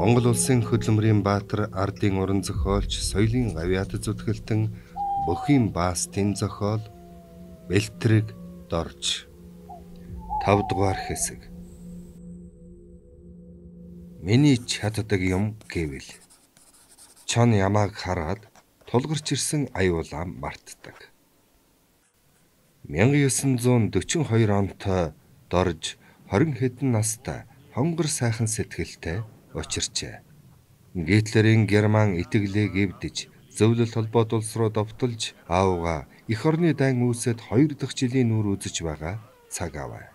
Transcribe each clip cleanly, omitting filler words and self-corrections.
Монгол улсын хөдөлмөрийн баатар, ардын уран зохиолч, соёлын гавьяат зүтгэлтэн, бүхийн баастын зохиол Бэлтрэг Дорж. 5 дугаар хэсэг. Миний чаддаг юм гэвэл чон ямааг хараад тулгарч ирсэн аюулаа мартдаг. 1942 онтой Дорж 20 хэдэн настай хонгор сайхан сэтгэлтэй учирчээ. Гитлерийн Герман итгэлийг эвдэж, зөвлөлт холбоот улс руу довтолж аавгаа эх орны дайн үүсэт 2 дахь жилийн нүр үзэж байгаа цаг аваа.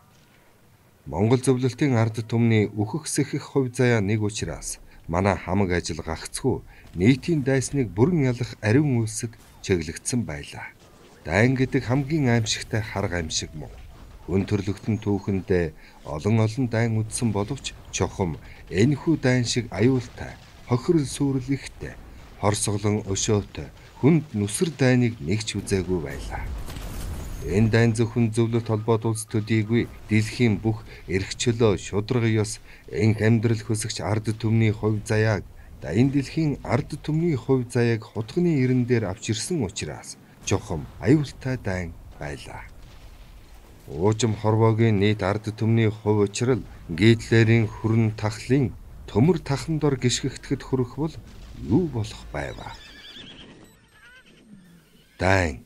Монгол зөвлөлтийн ард түмний үхэх сэхэх хувь заяа нэг учраас манай хамаг ажил гагцгүй нийтийн дайсныг бүрэн ялах ариун үлсэд чиглэгдсэн байлаа. Дайн гэдэг хамгийн аимшигтай харга аимшиг мөн. Өн төрлөختөн түүхэндээ олон дайн үдсэн боловч чухам энэхүү дайн шиг аюултай, хохирол сүрэл ихтэй, хорсголон өшөөтэй, хүнд нүсэр дайныг нэгч үзээгүй байлаа. Энэ дайн зөвхөн зөвлөлт холбоот улс төдийгүй дэлхийн бүх эрх чөлөө, шударга ёс, энх амьдрал хөсөгч ард түмний хувь заяаг, энэ дэлхийн ард түмний хувь заяаг хутганы ирэн дээр авч ирсэн учраас чухам аюултай дайн байлаа. Уужим хорвоогийн нийт ард түмний хувь учрал Гитлерийн хүрэн тахлын төмөр тахан дор гიშгэгдэхэд хүрэх бол юу болох байваа. Дайн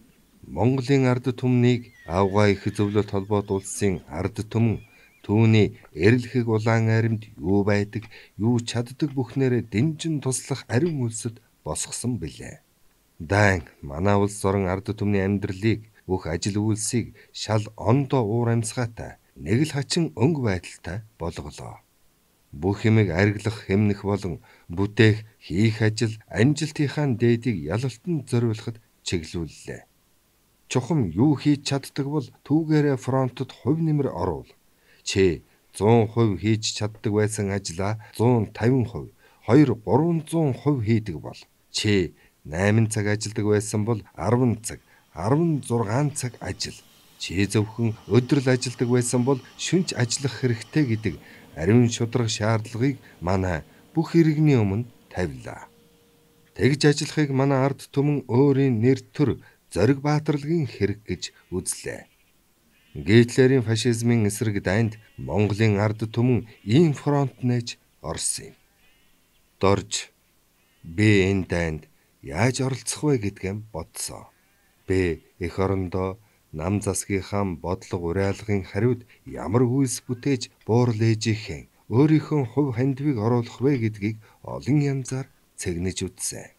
Монголын ард түмнийг аавгаа их зөвлөлт холбоот улсын ард түмэн түүний эрэлхэг улаан аримд юу байдаг, юу чаддаг бүхнээрээ дэмжин туслах ариун үлсэд босгосон билээ. Дайн манай улс орон ард түмний амьдралыг, бүх ажил үйлсийг шал ондоо уур амьсгаатай, нэг л хачин өнгө байдалтай болголоо. Бүх юмыг арилгах, хэмнэх болон бүтээх, хийх ажил амжилтынхаа дээдийг ялалтанд зориулахад чиглүүллээ. Чухам юу хийж чаддаг бол түүгээрээ фронтод хувь нэмэр оруул. Чи 100% хийж чаддаг байсан ажлаа 150%, 200-300% хийдэг бол. Чи 8 цаг ажилдаг байсан бол 10 цаг, 16 цаг ажил. Чи зөвхөн өдрөл ажилдаг байсан бол шөнч ажиллах хэрэгтэй гэдэг ариун шударга шаардлагыг манай бүх иргэний өмнө тавилаа. Тэгж ажиллахыг манай ард түмэн өөрийн нэр төр зориг баатарлагын хэрэг гэж үзлээ. Гитлерийн фашизмын эсрэг дайнд Монголын ард түмэн ийм фронт нээж орсон юм. Дорж би энэ дайнд яаж оролцох вэ гэдгээ бодсон. Би эх орондоо нам засгийнхаа бодлого уриалгын хариуд ямар үйлс бүтээж буурал ээжийнхэн өөрийнхөө хувь хандивыг оруулах вэ гэдгийг олон янзаар цэгнэж үзсэн.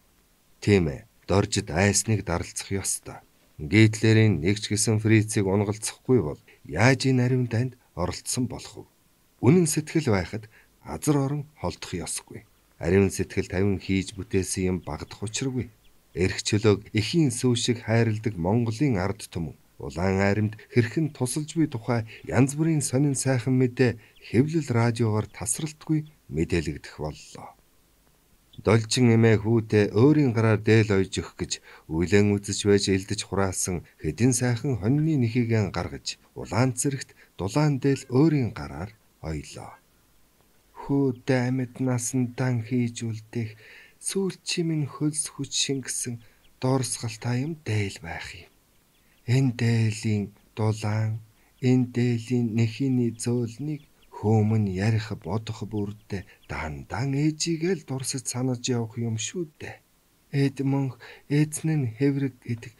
Тийм ээ, Доржид айсныг даралцах ёстой. Гитлерийн нэгч гисэн фрицийг унгалцахгүй бол яаж энэ ариун дайнд оролцсон болох вэ? Үнэн сэтгэл байхад азар орон холдох ёсгүй. Ариун сэтгэл тавин хийж бүтээсэн юм багдах учиргүй. Эрх чөлөөг эхийн сүв шиг хайрладаг Монголын ард түмэн улаан аримд хэрхэн тусалж буй тухай янз бүрийн сонин сайхан мэдээ хэвлэл радиогоор тасралтгүй мэдээлэгдэх боллоо. Должин эмээ хүүтэй өөрийн гараар дээл ойж өгөх гэж үйлэн үзэж байж элдэж хураасан хэдин сайхан хоньны нэхийгэн гаргаж улаан цэрэгт дулаан дээл өөрийн гараар ойлоо. Хүүтэй амьд насндан хийж үлдэх сүүлчимэн хөлс хүч шингэсэн дорсгалтай юм дээл байх юм. Энэ дээлийн дулаан, энэ дээлийн нэхийний зөөлнийг хөөмөн ярих бодох бүрдээ дандан ээжигээл дурсаж санаж явах юм шүү дээ. Эд мөнх эзэн нь хэврэг гэдэг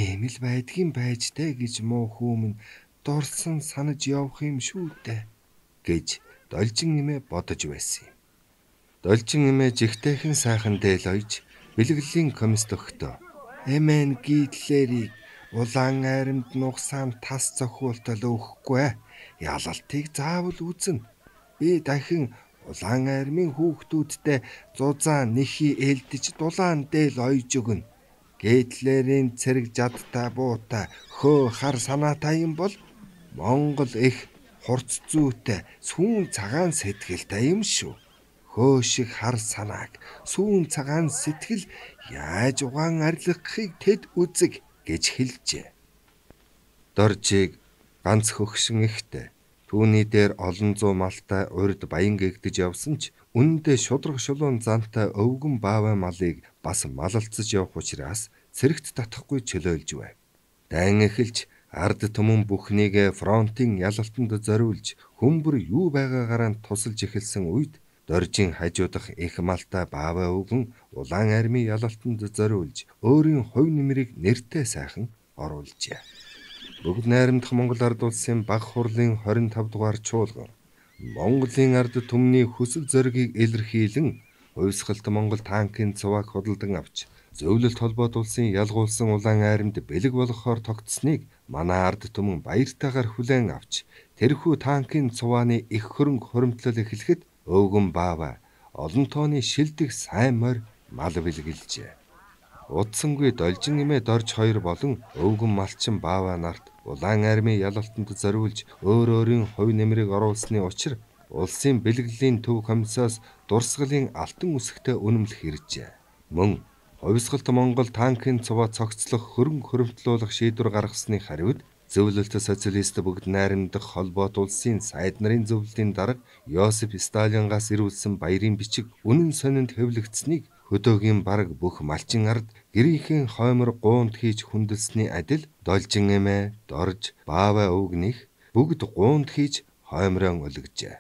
ийм л байдгийн байж дээ гэж муу хөөмөн дурсан санаж явах юм шүү дээ гэж Должин эмээ бодож байсан юм. Должин эмээ жигтэйхэн сайхан дээл ойж бэлгэлийн комист өгтөө. Эмэн Гитлерийг улаан аримд нугсаан тас зохиултал өгөхгүй. Ялалтыг заавал үзнэ. Би дахин улаан аримын хүүхдүүдтэй зузаан нэхий элдэж дулаан дээл ойж өгнө. Гитлерийн цэрэг жадтай буутай хөө хар санаатай юм бол Монгол их хурц зүйтэй сүүн цагаан сэтгэлтэй юм шүү. Хөө шиг хар санааг сүүн цагаан сэтгэл яаж угаан арилгахыг тэд үзэг гэж хэлжээ. Доржийг ганц хөгшин ихтэй. Түүний дээр олон зуун малтай урд баян гэгдэж явсан ч Үнэндээ шудраг шулуун зантай өвгөн баавай малыг бас малалцаж явах учраас цэрэгт татахгүй чөлөөлж байв. Дайн эхэлж ард түмэн бүхнийг фронтын ялалтанд зориулж хүмбэр юу байгаагаараа тусалж эхэлсэн үед Доржийн хажуудах их малтай баавай өвгөн улаан армийн ялалтанд зориулж өөрийн хувь нэмрийг нэртэй сайхан оруулжээ. Бүгд найрамдах Монгол ард улсын баг хурлын 25 дугаар чуулган Монголын ард түмний хүсэл зоригийг илэрхийлэн хувьсгалт Монгол танкын цувааг худалдан авч зөвлөлт холбоот улсын ялгуулсан улаан айрамд бэлэг болгохоор тогтсныг манай ард түмэн баяртайгаар хүлээн авч тэрхүү танкын цувааны их хөрөнгө хуримтлал эхлэхэд өвгөн бааваа олон тооны шилдэг сайн морь мал бэлгэлжээ. Удсангүй Должин эмээ Дорж хоёр болон өвгөн малчин бааваа нарт улаан армийн ялалтанд зориулж өөр өөрийн хувь нэмрийг оруулсны учир улсын бэлгэлийн төв комиссаас дурсгалын алтан үсэгтэй үнэмлэх иржээ. Мөн хувьсгалт Монгол танкын цуваа цогцлох хөрөнгө хуримтлуулах шийдвэр гаргасны хариуд зөвлөлт социалист бүгд найрамдах холбоот улсын сайд нарын зөвлөлийн дарга Йосеф Сталингаас ирүүлсэн баярын бичиг үнэн сонинд хэвлэгдсэнийг хөдөөгийн бараг бүх малчин ард гэрийнхэн хоймор гуунд хийж хүндэлсний адил Должин эмээ, Дорж, баавай өвгнийх бүгд гуунд хийж хоймрон өлгөжээ.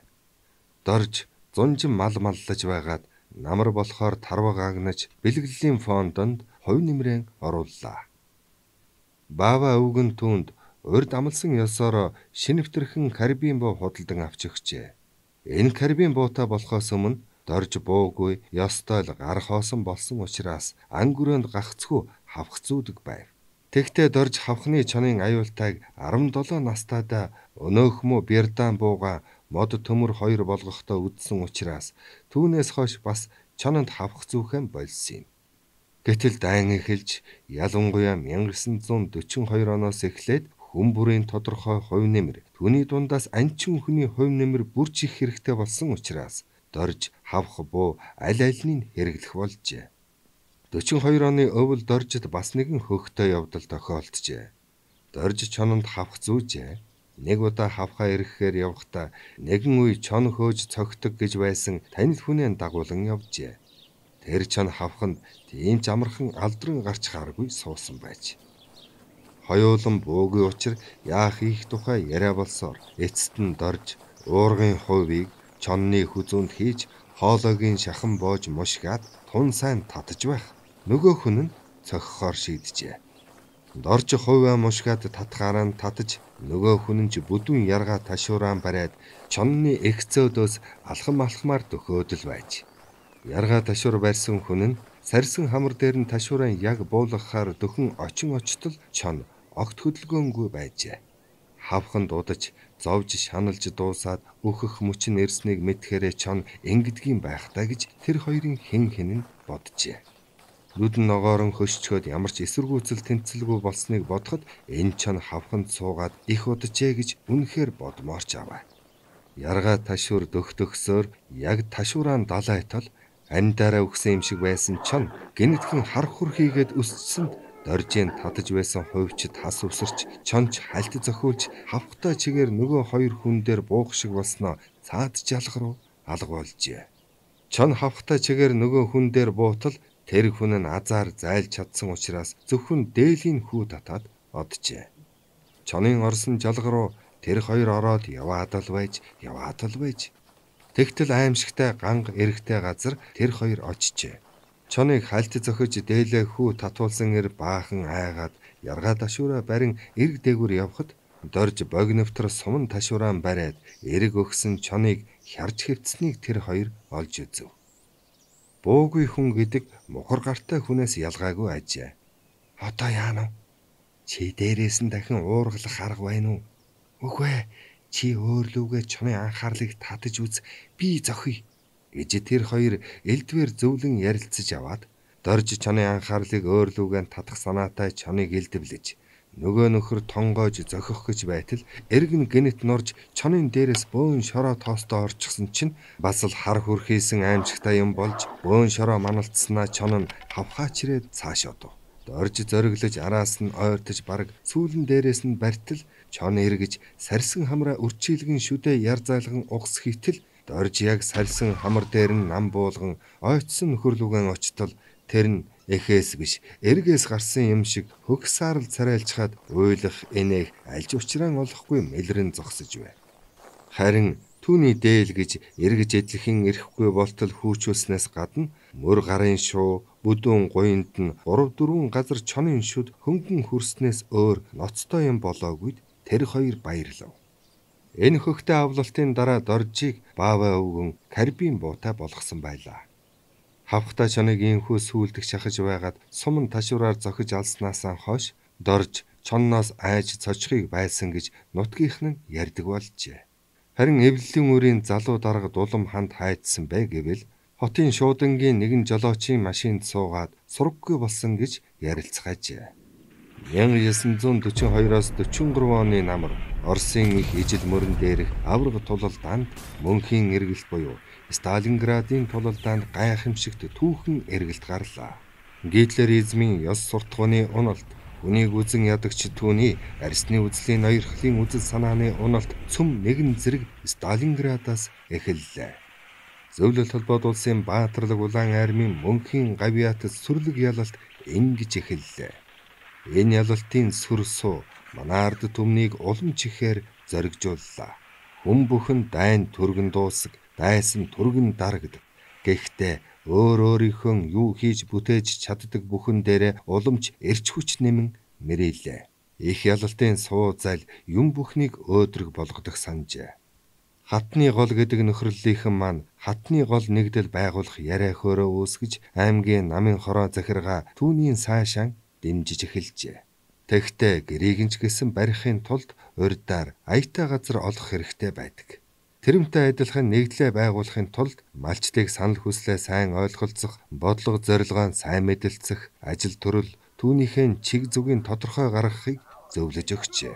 Дорж зунжин мал маллаж байгаад намар болохоор тарваг агнаж бэлгэлийн фондонд хувь нэмрээ орууллаа. Баавай өвгөн түүнд урд амлсан ёсоор шинэвтэрхэн карбин буу худалдан авч өгчээ. Энэ карбин буутай болохоос өмнө Дорж буугүй ёстой л гар хоосон болсон учраас ангөрөөнд гагцхүү хавх зүүдэг байв. Тэгтээ Дорж хавхны чонын аюултайг 17 настайдаа өнөөхмө Бярдан бууга мод төмөр 2 болгохдоо үдсэн учраас түүнээс хойш бас чононд хавх зүүхэн болсон юм. Гэтэл дайн эхэлж ялангуяа 1942 оноос эхлээд хүн бүрийн тодорхой хувь нэмэр түүний дундаас анчин хүний хувь нэмэр бүрч их хэрэгтэй болсон учраас Дорж хавх буу аль альнийг хэрэглэх болжээ. 42 оны өвөл Доржид бас нэгэн хөөхтэй явдал тохиолджээ. Дорж чононд хавх зүүжээ. Нэг удаа хавхаа ирэхээр явхдаа нэгэн үе чон хөөж цогтөг гэж байсан танил хүнээ дагуулan явжээ. Тэр чон хавханд тийм ч амархан алдран гарч харгүй суусан байж. Хоёулан буугүй учир яах их тухай яриа болсоор эцэст нь Дорж уургын хувийг чонны хүзүүнд хийж хоолойгийн шахан боож мушгаад тун сайн татаж байх. Нөгөө хүн нь цохихоор шийджээ. Дорж хувиа мушгаад татхаараа татаж нөгөө хүн нь ч бүдүүн яргаа ташууран бариад чонны экцөөдөөс алхам алхмаар дөхөөдөл байж. Яргаа ташуур барьсан хүн нь сарсан хамар дээр нь ташууран яг буулгахаар дөхөн очин очтол чон огт хөдөлгөөнгүй байжээ. Хавханд удаж зовж шаналж дуусаад өөхөх мөчн ирснийг мэдхээрээ чон ингэдгийн байхтаа гэж тэр хоёрын хэн нь боджээ. Нүдэн ногоорон хөшчгөөд ямар ч эсэргүүцэл тэнцэлгүй болсныг бодоход энэ чон хавханд суугаад их уджээ гэж үнэхээр бодмоорч аваа. Яргаа ташуур дөхтөгсөөр яг ташууран далайтал амьдаараа өгсөн юм шиг байсан чон гинэтхэн хар хур хийгээд өсчсөнд Доржийн татаж байсан хувьчид хас өсөрч чонч хальт зохиулж хавхтай чигээр нөгөө хоёр хүн дээр буух шиг болсноо цаад жалах руу алга болжээ. Чон хавхтай чигээр нөгөө хүн дээр буутал тэр хүн нь азар зайлж чадсан учраас зөвхөн дээлийн хүү татаад оджээ. Чонын орсон жалга руу тэр хоёр ороод яваад л байж. Тэгтэл аимшигтай ганг эрэхтэй газар тэр хоёр очжээ. Чоныг хальт зохиж дээлээ хүү татуулсан ир баахан айгаад яргаа ташуураа барин эрг дээгүр явхад Дорж богиновтор суман ташууран бариад эрг өгсөн чоныг хярж хэвтсэнийг тэр хоёр олж үзв. Буугүй хүн гэдэг мухар гартай хүнээс ялгаагүй ажээ. Одоо яана? Чи дээрээс нь дахин уургалах арга байна уу? Үгүй, чи өөрлөвгөө чоны анхаарлыг татаж үз, би зохиё гэж тэр хоёр элдвэр зөвлөн ярилцаж аваад Дорж чоны анхаарлыг өөрлөвгөө татах санаатай чоныг элдвлэж нөгөө нөхөр тонгоож зохих гэж байтал эрг нь гинэт нурж чонын дээрээс бөөн шороо тоостоо орчихсон чинь бас л хар хүрхийсэн аимшигтай юм болж бөөн шороо маналцснаа чон нь хавхаачрээд цааш одов. Дорж зориглож араас нь ойртож бараг сүүлэн дээрээс нь бартал чон эргэж сарсан хамраа үрчийлгэн шүдэ яр зайлган угс хийтэл Дорж яг сальсан хамар дээр нь нам буулган ойцсон нөхөрлөгөн очтол тэр нь эхээс биш эргээс гарсан юм шиг хөгсаарл царайлчхаад уйлах энэх альж учраан олохгүй мэлрэн зогсож бай. Харин түүний дээл гэж эргэж эдлэхэн ирэхгүй болтол хүүчүүлснээс гадна мөр гарын шуу бүдүүн гуйнд нь 3-4 газар чонын шүд хөнгөн хүрснээс өөр ноцтой юм болоогүйд тэр хоёр баярлав. Энэ хөхтэй авлалтын дараа Доржийг Баава өвгөн карбин буутай болгосон байлаа. Хавхта чоныг инхүү сүулдэх шахаж байгаад суман ташуураар зохиж алснаасаа хойш Дорж чонноос айж цочхыг байсан гэж нутгийнх нь ярьдаг болжээ. Харин эвлэлийн үрийн залуу дарга дулам ханд хайдсан бай гэвэл хотын шуудангийн нэгэн жолоочийн машинд суугаад сураггүй болсон гэж ярилцгаажээ. 1942-оос 43 оны намар Оросын их ижил мөрөн дээрх авраг тулалдаанд мөнхийн эргэлт буюу Сталинградын тулалдаанд гайхамшигт түүхэн эргэлт гарлаа. Гитлеризмын ёс суртахууны уналт, үнийг үзэн ядагч түүний арсны үзлийн ноёрхлын үзэл санааны уналт цөм нэгэн зэрэг Сталинградаас эхэллээ. Зөвлөлт холбоод улсын баатарлаг улаан армийн мөнхийн гавьяат сүрлэг ялалт ингэж эхэллээ. Энэ ялалтын сүр суу манай ард түмнийг улам чихээр зоригжууллаа. Хүн бүхэн дайн түргэн дуусаг, дайсан түргэн дарагдаг. Гэхдээ өөрийнхөө юу хийж бүтээж чаддаг бүхэн дээрээ уламж эрч хүч нэмэн мэрэлээ. Их ялалтын суу зал юм бүхнийг өөдрөг болгодог санжээ. Хатны гол гэдэг нөхрөлийнхэн маань хатны гол нэгдэл байгуулах яриа хөөрөө үүсгэж аймгийн намын хороо захиргаа түүний сайшаан дэмжиж эхэлжээ. Тэгтээ гэрийг гэсэн барихын тулд урьдаар аятай газар олох хэрэгтэй байдаг. Тэрмтэй адилхан нэгдлээ байгуулахын тулд малчдыг санал хүслээ сайн ойлголцох, бодлого зорилгоо сайн мэдэлцэх, ажил төрөл түүнийхээ чиг зүгийн тодорхой гаргахыг зөвлөж өгчээ.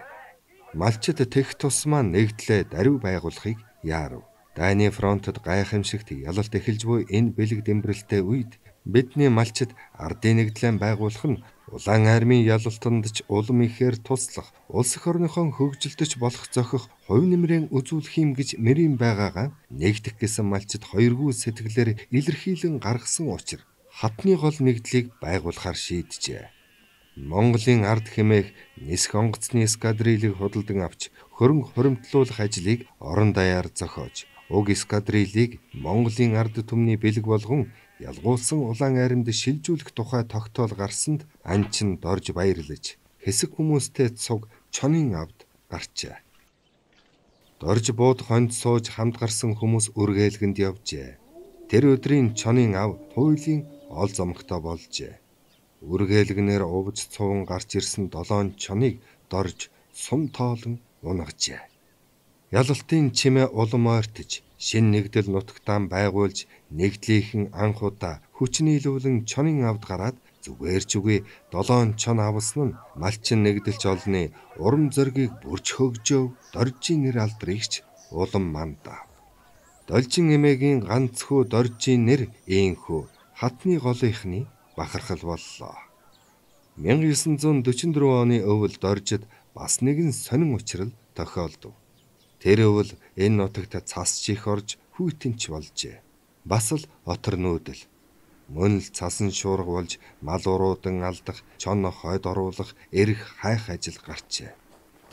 Малчид тех тусмаа нэгдлээ даруй байгуулахыг яарав. Дайны фронтод гайхамшигт ялалт эхэлж буй энэ бэлэг дэмбэрэлтэй үед бидний малчид ардын нэгдлээ байгуулах нь улаан армийн ялалтанд ч улам ихээр туслах, улс эх орныхон хөгжилдөж болох зохих хувь нэмрээ үзүүлэх юм гэж мэрийн байгаагаа нэгдэх гэсэн малчид хоёргүй сэтгэлээр илэрхийлэн гаргасан учраас хатны гол нэгдлийг байгуулахар шийджээ. Монголын ард хэмээх нисэх онгоцны эскадрилийг худалдан авч хөрөнгө хуримтлуулах ажлыг орон даяар зохиож, уг эскадрилийг Монголын ард түмний бэлэг болгон ялгуулсан улаан айрамд шилжүүлэх тухай тогтоол гарсанд анчин Дорж баярлаж хэсэг хүмүүстэй цуг чонын авд гарчээ. Дорж бууд хонд сууж хамт гарсан хүмүүс үргэлгэнд явжээ. Тэр өдрийн чонын ав туйлын ол зомгтой болжээ. Үргэлгнээр увж цуван гарч ирсэн 7 чоныг Дорж сум тоолон унгажээ. Ялалтын чимээ улам ойртож шин нэгдэл нутагтаан байгуулж нэгдлийнхэн анх удаа хүчнийлүүлэн чонын авд гараад зүгээр ч үгүй 7 чон авсан нь малчин нэгдэлч олны урам зоригийг бүрч хөгжөөв. Доржийн нэр алдрыгч улам мандаа. Должин эмээгийн ганц хүү Доржийн нэр ийхүү хатны голынхны бахархал боллоо. 1944 оны өвөл Доржид бас нэгэн сонин учрал тохиолдов. Тэр өвөл энэ нутагт цас чих орж хүйтэнч болжээ. Бас л отор нүүдэл. Мөн л цасан шуурга болж мал уруудан алдах, чон хойд оруулах, эрх хайх ажил гарчээ.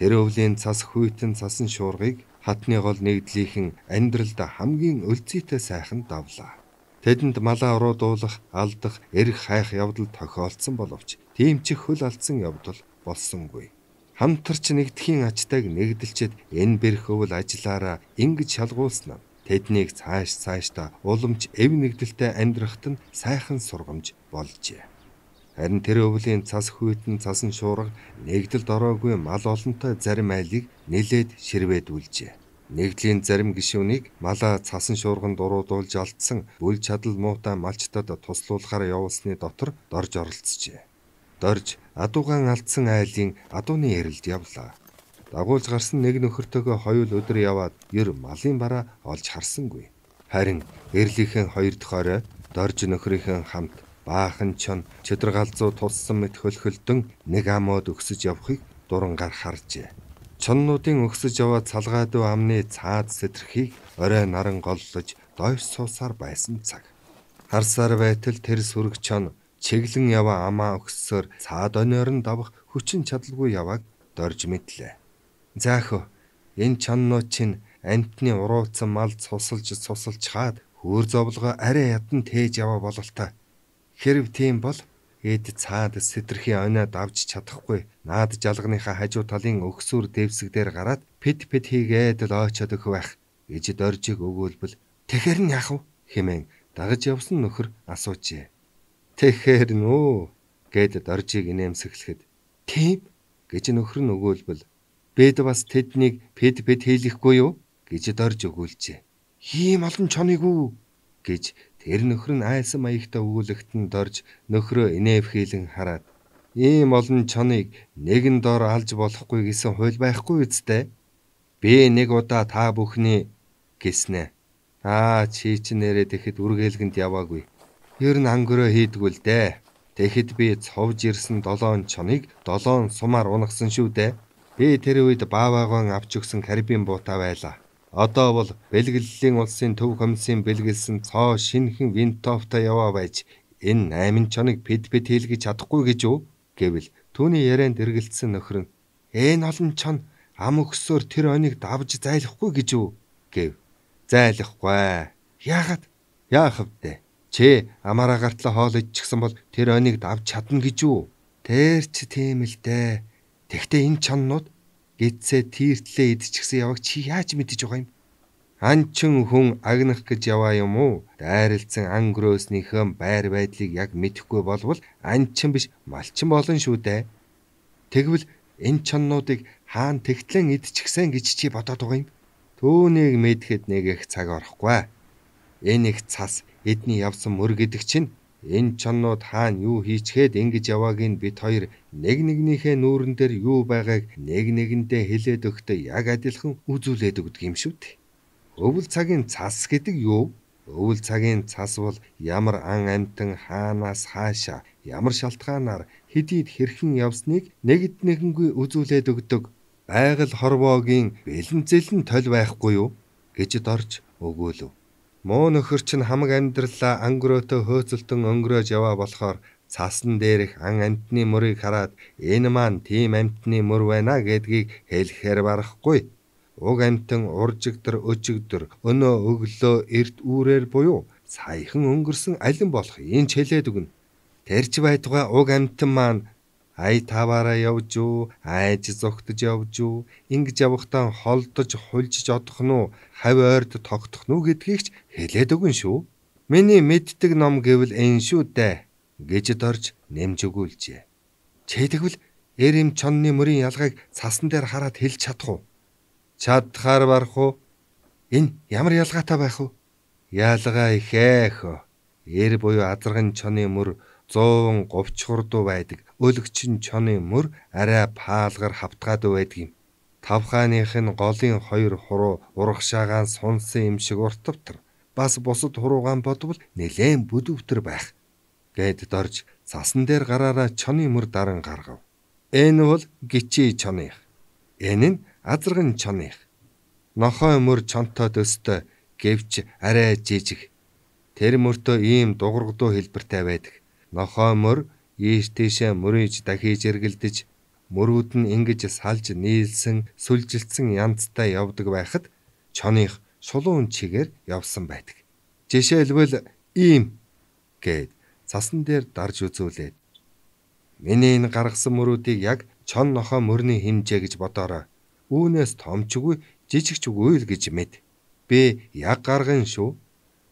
Тэр өвлийн цас хүйтэн цасан шуургыг хатны гол нэгдлийнхэн амьдралд хамгийн өлзийтэй сайхан давлаа. Тэдэнд малаа уруудуулах, алдах, эрх хайх явдал тохиолдсон боловч тийм ч хөл алдсан явдал болсонгүй. Хамтарч нэгдэхийн ачтайг нэгдэлчэд энэ бэрх өвөл ажиллаараа ингэж шалгуулсан нь тэднийг цаашдаа уламж эв нэгдэлтэй амьдрахад нь сайхан сургамж болжээ. Харин тэр өвлийн цас хүйтэн цасан шуурга нэгдэлд ороогүй мал олонтой зарим айлыг нилээд ширвэдүүлжээ. Нэгдлийн зарим гишүүнийг малаа цасан шуурганд уруудуулж алдсан бүл чадал муутай малчтад туслуулахаар явуулсны дотор Дорж оролцжээ. Дорж адуугаан алдсан айлын адууны ярилд явлаа. Дагуулж гарсан нэг нөхөртөөгөө хоёул өдөр яваад ер малын бараа олж харсангүй. Харин эрлийнхэн 2 дахь орой Дорж нөхрийнхэн хамт баахан чон чөдөр галзуу туссан мэт хөлхөлдөн нэг амууд өгсөж явахыг дурангаар харжээ. Чоннуудын өгсөж яваа цалгаадуу амны цаад сэтрхийг орой наран голлож дойр суусаар байсан цаг. Харсаар байтал тэр сүрэг чон чиглэн яваа амаа өгсөөр цаад ониорн давах хүчин чадалгүй явааг дорж мэдлээ. Заахөө энэ чоннууд чинь амтны урууцсан мал цусалж хаад хөөр зовлогоо арай ядан тээж яваа бололтой. Хэрв тийм бол эд цаад сэтрхийн оноо давж чадахгүй наад жалганыхаа хажуу талын өгсүр дэвсэг дээр гараад пэт хийгээд л очоод өгөх байх гэж доржиг өгүүлбэл тэгэхэр нь яах вэ хэмээн дагаж явсан нөхөр асуужээ. Тэгэхэр нөө гэд доржиг инээмсэглэхэд тийм гэж нөхөр нь өгүүлбэл бид бас тэднийг пэт хийлэхгүй юу гэж дорж өгүүлжээ. Ийм олон чоныг үү гэж тэр нөхөр нь айсан маягтай өгүүлэхт нь дорж нөхрөө инэвхийлэн хараад ийм олон чоныг нэгэн дор алж болохгүй гэсэн хууль байхгүй үсттэй. Би нэг удаа та бүхний гэснэ. Чи ч нэрээ тэгэхэд үргэлгэнд яваагүй. Ер нь ангөрөө хийдгүүл дээ. Тэгэхэд би цовж ирсэн 7 чоныг 7 сумаар унагсан шүү дээ. Би тэр үед бааваагаан авч өгсөн карибын буута байлаа. Одоо бол бэлгэллийн улсын төв комиссийн бэлгэлсэн цоо шинхэн винтовтой яваа байж энэ 8 чоныг пэт хийлгэж чадахгүй гэж үү гэвэл түүний ярианд эргэлцсэн нөхөр нь энэ олон чон ам өгсөөр тэр оныг давж зайлахгүй гэж үү гэв. Зайлахгүй. Яагаад? Яах вэ? Чи амаараа гартла хоол идчихсэн бол тэр оныг давж чадна гэж үү? Тэр ч тийм л дээ. Тэгтээ энэ чоннууд гидсээ тийртлээ идчихсэн яваг чи яаж мэдэж байгаа юм? Анчин хүн агнах гэж яваа юм уу? Дайралцсан ан гөрөөснийхөө байр байдлыг яг мэдэхгүй болвол анчин биш малчин болно шүү дээ. Тэгвэл энэ чоннуудыг хаан тэгтлэн идчихсэн гэж чи бодоод байгаа юм? Түүнийг мэдэхэд нэг их цаг орохгүй. Энэ их цас эдний явсан мөр гэдэг чинь энэ чоннууд хаана юу хийчгээд ингэж явааг нь бид хоёр нэг нэгнийхээ нүүрэн дээр юу байгааг нэг нэгэндээ хэлээд өгтөө яг адилхан үзүүлээд өгдөг юм шүү дээ. Өвөл цагийн цас гэдэг юу? Өвөл цагийн цас бол ямар ан амьтан хаанаас хаашаа ямар шалтгаанаар хэдийд хэрхэн явсныг нэгд нэгэнгүй үзүүлээд өгдөг. Байгаль хорвоогийн бэлэнцэлэн толь байхгүй юу гэж дорж өгөөлөв. Муу нөхөр чинь хамаг амьдралаа ангөрөөтөө хөөцөлтөн өнгөрөөж яваа болохоор цасан дээрх ан амьтны мөрийг хараад энэ маань тийм амьтны мөр байна гэдгийг хэлэхээр барахгүй. Уг амьтан уржигдэр өчигдөр өнөө өглөө эрт үүрээр буюу саяхан өнгөрсөн алин болох энэ хэлээд өгнө. Тэрч байтугай уг амьтан маань ай таваараа явж юу, айж зогтож явж юу, ингэж явахдаа холдож хулжиж одох нь уу, хавь ойрд тогтох нь уу гэдгийг ч хэлээд өгнө шүү. Миний мэддэг ном гэвэл энэ шүү дээ гэж дорж нэмж өгүүлжээ. Чэдэгвэл эрэм чонны мөрийн ялгааг цасан дээр хараад хэлж чадах уу? Чадхаар барах уу? Энэ ямар ялгаатай байх вэ? Ялгаа ихээх. Эр буюу азарган чоны мөр 100 говьчхурдуу байдаг. Өлөгчин чоны мөр арай паалгар хавтгаадаг байдаг юм. Тавхааных нь голын 2 хуруу урагшаагаан сунсан юм шиг уртвтар. Бас бусад хуруугаан бодвол нэлээд бүдүүвтэр байх. Гэд дорж цасан дээр гараараа чоны мөр даран гаргав. Энэ бол гичи чоных. Энэ нь азарган чоных. Нохой мөр чонтой төстэй гэвч арай жижиг. Тэр мөртөө ийм дугуйгдуу хэлбэртэй байдаг. Нохой мөр ийш тийшээ мөрийж дахиж эргэлдэж мөрүүд нь ингэж салж нийлсэн сүлжилтсэн янзтай явдаг байхад чоных шулуун чигээр явсан байдаг. Жишээлбэл ийм гэд цасан дээр дарж үзүүлээд миний энэ гаргасан мөрүүдийг яг чон нохой мөрний хэмжээ гэж бодоорой. Үүнээс томчгүй жижигчгүй л гэж мэд. Би яг гарган шүү.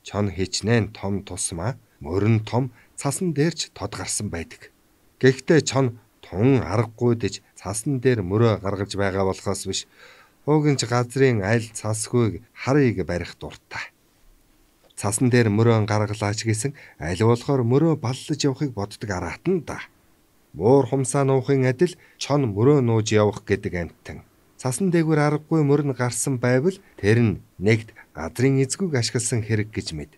Чон хичнээн том тусмаа мөрөн том цасан дээрч тод гарсан байдаг. Гэхдээ чон тун аргагүй дэж цасан дээр мөрөө гаргаж байгаа болохоос биш. Угинч газрын аль цасхүйг харыг барих дуртай. Цасан дээр мөрөө гаргалаач гэсэн аль болохоор мөрөө баллаж явахыг боддог араат нь да. Муур хумсаа нуухын адил чон мөрөө нууж явах гэдэг амттан. Цасан дээгүүр аргагүй мөрн гарсан байвал тэр нь нэгд газрын эзгүүг ашигласан хэрэг гэж мэд.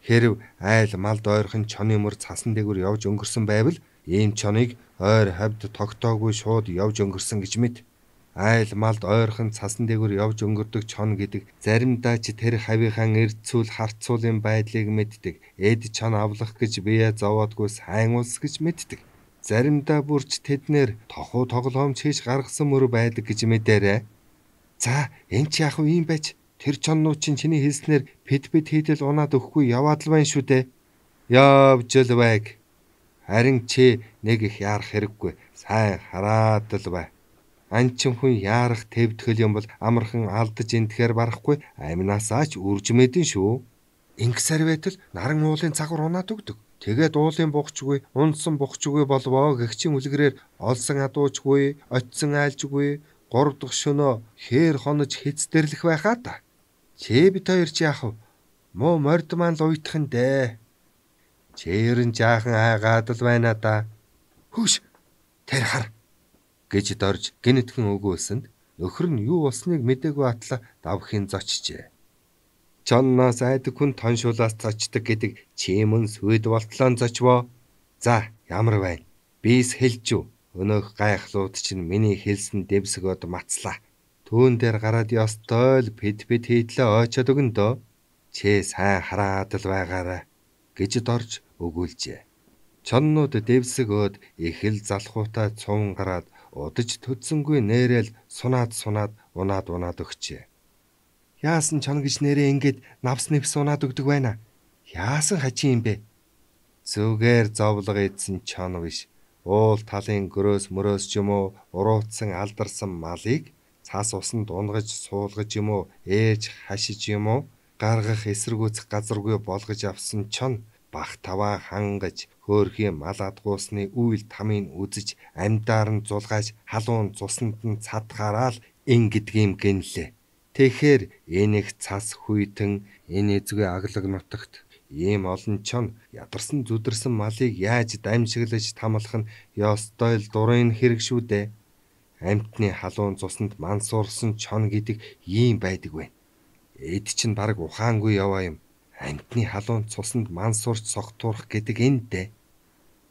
Хэрв айл малд ойрхон чоны мөр цасан дээгүүр явж өнгөрсөн байвал ийм чоныг ойр хавьд тогтоогүй шууд явж өнгөрсөн гэж мэд. Айл малд ойрхон цасан дээгүүр явж өнгөрдөг чон гэдэг заримдаа ч тэр хавийнхаа эрдцүүл харцуулын байдлыг мэддэг. Эд чон авлах гэж бие зовоодгүй сайн улс гэж мэддэг. Заримдаа бүрч тэднэр тохуу тоглоомч хийж гаргасан мөр байдаг гэж мэдээрэй. За энэ ч яах вэ юм байж? Тэр чоннууд чинь чиний хэлснээр пэд хийдэл унаад өгөхгүй яваад л байна шүү дээ. Явж л байг. Харин чи нэг их яарах хэрэггүй. Сайн хараад л бай. Анчин хүн яарах твдгэл юм бол амархан алдаж энтэхээр барахгүй аминаасаа ч үрж мэдэн шүү. Ингэсээр байтал наран уулын цагур унаад өгдөг. Тэгээд уулын бухчгүй, унсан бухчгүй болвоо гэгчийн үлгэрээр олсон адуучгүй, очсон айлжгүй, 3 дахь шөнөө хээр хонож хэцдэрлэх байхаа та. Чи бит хоёр ч яах вэ? Муу морд маань л уйтхан дээ. Чээрэн жаахан айгаад л байна да. Хөөш, тэр хар гэж дорж гинэтхэн өгүүлсэнд нөхөр нь юу болсныг мэдээгүй атла давхин зочжээ. Чонноос айдаг хүн тоншуулаас цочдөг гэдэг чимэн сүд болтлоо зочвоо. За ямар байна? Бис хэлж үү? Өнөөх гайхлууд чинь миний хэлсэн дэвсгөөд мацлаа. Түүн дээр гараад ёстой л пэд хийдлээ ойчоод өгөн дөө. Чи сайн хараад л байгаарай гэж дорж өгүүлжээ. Чоннууд дэвсэг өөд их л залхуутай цуван гараад удаж төдсөнгүй нээрэл унаад унаад өгчээ. Яасан чон гэж нэрээ ингээд навс нэвс унаад өгдөг байна. Яасан хачин юм бэ? Зүгээр зовлого идсэн чон биш. Уул талын гөрөөс мөрөөс ч юм уу уруутсан алдарсан малыг цаас усанд унгаж суулгаж юм уу ээж хашиж юм уу гаргах эсэргүүцэх газаргүй болгож авсан чон бах таваа хангаж хөөрхийн мал адгуусны үйл тамыг үзэж амьдаар нь зулгаж халуун цуснд нь цадхаараа л ингэдгийм гинлээ. Тэгэхээр энэ их цас хүйтэн энэ эзгүй аглаг нутагт ийм олон чон ядарсан зүдэрсэн малыг яаж дамжиглаж тамлах нь ёстой л дурын хэрэг шүү дээ. Амьтны халуун цуснд мансуурсан чон гэдэг ийм байдаг вэ. Эд чинь баг ухаангүй яваа юм. Амьтны халуун цуснд мансуурч согтуурах гэдэг энэ дээ.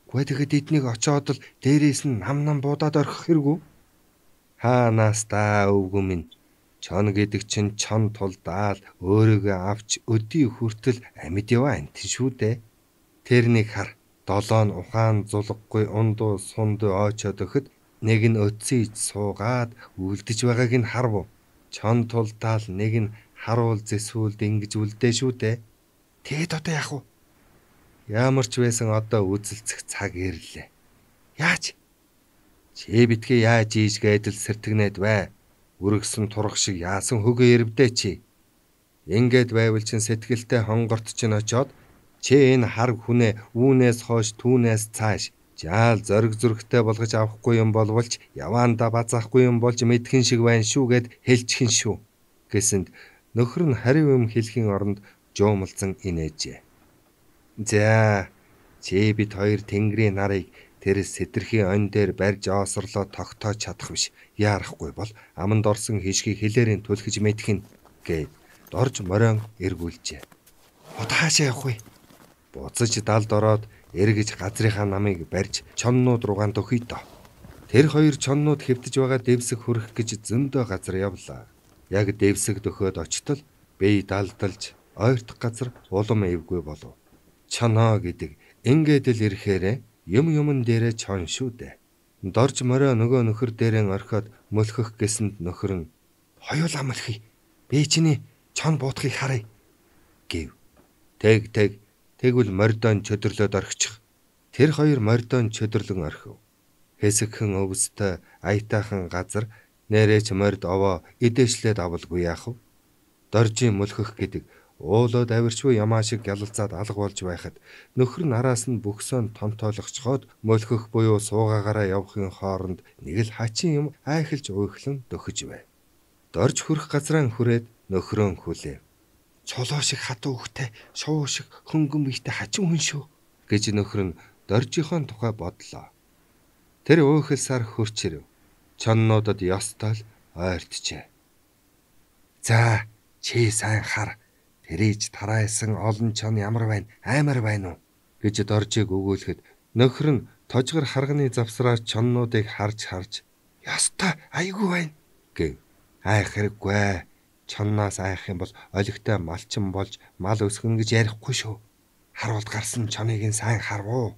Гэхдээ тэгэхэд эднийг очоод л дээрээс нь нам буудаад орхих хэрэггүй. Хаанаас та өвгөө минь. Чон гэдэг чинь чон тулдаал өөрийгөө авч өдий хүртэл амьд яваа амтэн шүү дээ. Тэрнийг хар. 7 ухаан зулггүй ундуу сундуу ойчоод өгөхөд нэг нь өцсөж суугаад үлдэж байгааг нь харв. Чон тулдаал нэг нь харуул зэсвүүлд ингэж үлдээ шүү дээ. Тэгэд одоо яах вэ? Ямар ч байсан одоо үзэлцэх цаг ирлээ. Яаж? Чи битгий яаж ийжгээд л сэртэгнээд бай. Үргэсэн турах шиг яасан хөгөө ирвдээ чи. Ингээд байвал чин сэтгэлтэй хонгорт чинь очоод чи энэ хар хүнээ үүнээс хойш түүнээс цааш жаал зориг зүрхтэй болгож авахгүй юм болволч яваанда базаахгүй юм болж мэдхэн шиг байна шүүгээд хэлчихэн шүү гэсэнд нөхөр нь хариу юм хэлхийн оронд жуумалцсан инээжээ. За чи бит хоёр тэнгэрийн нарыг тэр сэтэрхийн он дээр барьж оосрлоо тогтоож чадах биш. Яарахгүй бол аманд орсон хишгийг хэлээрийн түлхэж мэдхэн гээд дорж морион эргүүлжээ. Одоо хаашаа явах вэ? Буцаж далд ороод эргэж газрынхаа намыг барьж чоннууд руугаан дөхөй доо. Тэр хоёр чоннууд хэвдэж байгаа дэвсэг хүрэх гэж зөндөө газар явлаа. Яг дэвсэг дөхөөд очтол бие далдалж ойртох газар улам эвгүй болов. Чоноо гэдэг ингээд л ирэхээрээ юмн дээрээ чон шүү дээ. Дорж морио нөгөө нөхөр дээрээ орхиод мөлхөх гэсэнд нөхөр нь хоёулаа мөлхий. Би чиний чон буутахыг харъя гэв. Тэгвэл мордон чөдөрлөөд орхичих. Тэр хоёр мордон чөдөрлөн орхив. Хэсэгхэн өвстэй аятайхан газар нэрэж морд овоо эдээшлээд авалгүй яах вэ? Доржийн мөлхөх гэдэг уулууд авирчгүй ямаа шиг гялалзаад алга болж байхад нөхөр нь араас нь бөхсөөн томтойлгочхоод мөлхөх буюу суугаагаараа явахын хооронд нэг л хачин юм айхалж уйхлан дөхөж байв. Дорж хүрэх газраа хүрээд нөхрөө хүлээв. Чулуу шиг хатуу хөхтэй, шувуу шиг хөнгөн биетэй хачин хүн шүү гэж нөхөр нь доржийнхоо тухай бодлоо. Тэр уйхалсаар хөрч ирэв. Чоннуудад ёстой л ойртжээ. За чи сайн хар. Тэрийж тараасан олон чон ямар байна? Аймар байна уу? гэж доржийг өгөөлөхөд нөхөр нь тожгор харганы завсраар чоннуудыг харж "Ёстой, айгүй байна" гэв. Айх хэрэггүй. Чонноос айх юм бол олигтой малчин болж мал өсгөн гэж ярихгүй шүү. Харуулд гарсан чоныг нь сайн харвуу.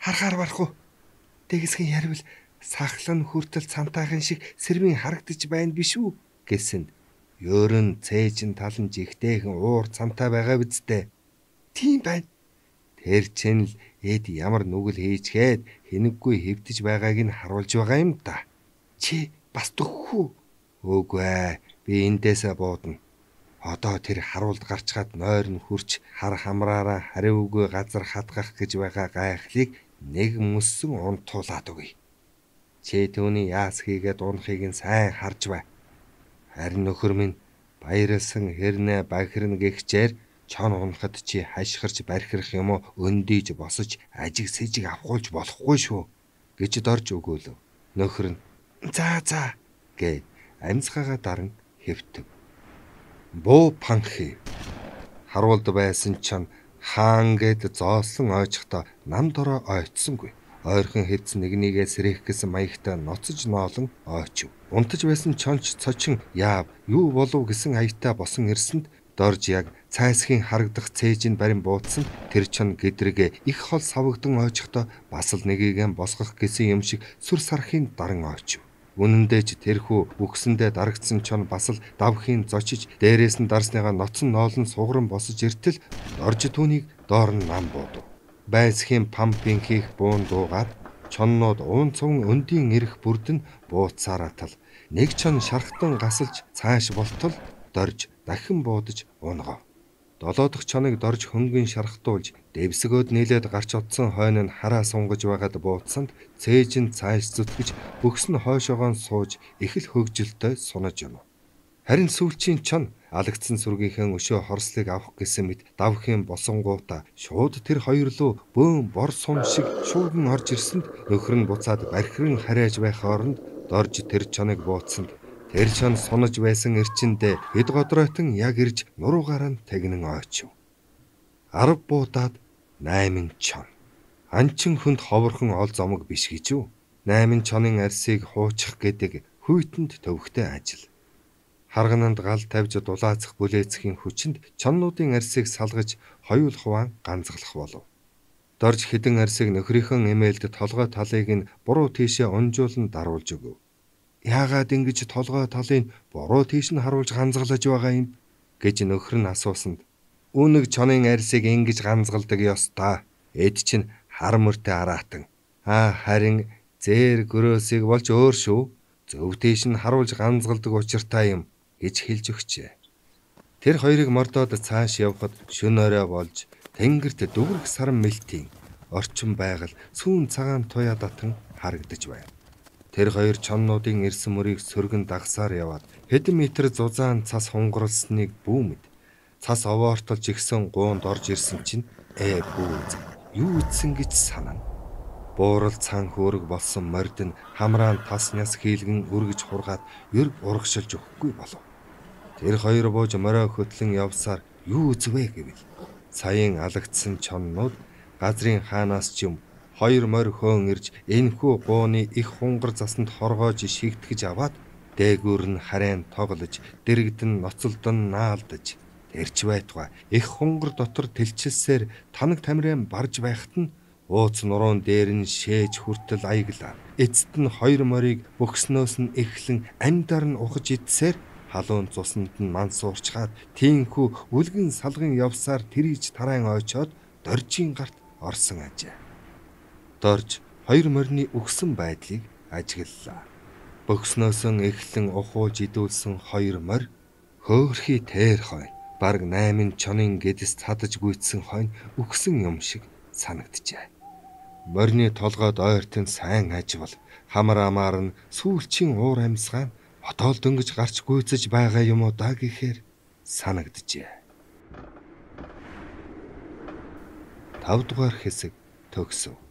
Харахаар барахгүй. Дэгэсгэн ярил сахлан хүртэл цантайхан шиг сэрвийн харагдаж байна биш үү гэсэн. Ёрын цээжин талан жигтэйхэн уур цантай байгаа биз дээ. Тийм байна. Тэр чинь л эд ямар нүгэл хийчгээд хэнэггүй хэвтэж байгааг нь харуулж байгаа юм да. Чи бас төгөх үү? Үгүй ээ. Би эндээсээ буудна. Одоо тэр харуулд гарчгаад нойр нь хурч хар хамраараа хариугүй газар хатгах гэж байгаа гайхлыг нэг мөссөн унтуулаад өгье. Чи түүний яас хийгээд унахыг нь сайн харж бай. Харин нөхөр минь баярлсан хэрнээ бахирна гихчээр чон унахад чи хашгирч бархирах юм уу өндийж босож ажиг сэжиг авахулж болохгүй шүү гэж дорж өгөөлөв. Нөхөр нь за гэд амьсгаагаа даран хэвтэв. Буу панхи харуулд байсан чон хаан гэд зоосон ойчхдоо нам дороо ойцсонгүй. Ойрхон хэдс нэгнийгээ сэрэх гэсэн маягтай ноцож ноолон ойчив. Унтаж байсан чонч цочин яав юу болов гэсэн аятай босон ирсэнд дорж яг цайсхийн харагдах цээжинд барин буудсан тэр чон гэдрэг их хол савгдан ойчхдоо бас л нэгийгэн босгох гэсэн юм шиг сүр сархийн даран ойчив. Үнэндээ ч тэрхүү үгсэндээ дарагдсан чон бас л давхийн зочиж дээрээс нь дарсныгаа ноцон ноолон сугран босож иртэл дорж түүнийг доор нь нам буудав. Байсхийн пампing хийх буун дуугаад чоннууд уунцун өндийн ирэх бүрдэн бууцаараа тал нэг чон шархтан гасалж цааш болтол дорж дахин буудаж унгав. Долоо дахь чоныг дорж хөнгөн шархтуулж дэвсгөөд нийлээд гарч одсон хойно нь хараа сунгаж байгаад буудсанд цээж нь цааш зүтгэж бөхс нь хойшоогоон сууж их л хөгжилтэй сунаж юм. Харин сүүлчийн чон алагдсан сүргийнхээ өшөө хорслыг авах гэсэн мэт давхийн босонгуута шууд тэр хоёр руу бөөн бор сум шиг шууган орж ирсэнд нөхөр нь буцаад бархиран харайж байх оронд дорж тэр чоныг бууцсанд тэр чон сунаж байсан эрчиндээ хэд годройтон яг ирж нуруугаараа нь тэгнэн ойчив. 10 буудаад 8 чон. Анчин хүнд ховорхон ол зомог биш гэж үү? 8 чонын арсыг хуучих гэдэг хүйтэнд төвхтэй ажил. Харгананд гал тавьж дулаацах бүлээцхийн хүчинд чоннуудын арсыг салгаж хоёул хуваан ганцглах болов. Дорж хідэн арсыг нөхрийнхөө эмээлд толгой талыг нь буруу тийшээ унжуулан даруулж өгөв. Яагаад ингэж толгой талыг буруу тийш нь харуулж ганцглаж байгаа юм гэж нөхөр нь асуусанд үүнэг чонын арсыг ингэж ганцгалдаг ёстой. Эд чинь хар мөртэй араатан. Харин зээр гөрөөсийг болж өөр шүү. Зөв тийш нь харуулж ганцгалдаг учиртай юм гэж хэлж өгчээ. Тэр хоёрыг мордоод цааш явхад шөнө орой болж тэнгэрт дүүрэх саран мэлтийн орчин байгаль сүүн цагаан туяа татан харагдаж байна. Тэр хоёр чоннуудын ирсэн мөрийг сөргөн дагсаар яваад хэдэн метр зузаан цас хунгарлсныг бүүмэд цас овоортолж игсэн гуунд орж ирсэн чинь бүүз юу ийдсэн гэж санана. Буурал цаан хөөрөг болсон морд нь хамраан тасняс хийлгэн үргэж хургаад ерг урагшилж өгөхгүй болов. Тэр хоёр бууж морой хөтлөн явсаар юу үзвэ гэвэл саяын алагдсан чоннууд газрын хаанаас ч юм хоёр морь хөөн ирж энэхүү гууны их хунгар засанд хоргоож шигтгэж аваад дээгүүр нь харайн тоглож дэрэгдэн ноцолдон наалдаж тэрч байтугай их хунгар дотор тэлчилсээр танаг тамирын барж байхад нь ууц нуруун дээр нь шээж хүртэл аяглаа. Эцэст нь хоёр морийг бөхснөөс нь эхлэн амьдаар нь ухаж идсээр халуун цуснд нь мансуурчгаад тийхүү үлгэн салган явсаар тэрийж тараан ойчоод доржийн гарт орсон ажээ. Дорж хоёр морины өгсөн байдлыг ажиглалаа. Бөхснөөсөн эхлэн ухууж идүүлсэн хоёр морь хөөхрхий тэр хойно бараг 8 чонын гэдэс цадаж гүйцсэн хойно өгсөн юм шиг санагджээ. Морины толгойд ойртон сайн аживал хамар амаар нь сүүлчийн уур амьсгаа хотоол дөнгөж гарч гүйцэж байгаа юм уу да гэхээр санагджээ. 5 дугаар хэсэг төгсөв.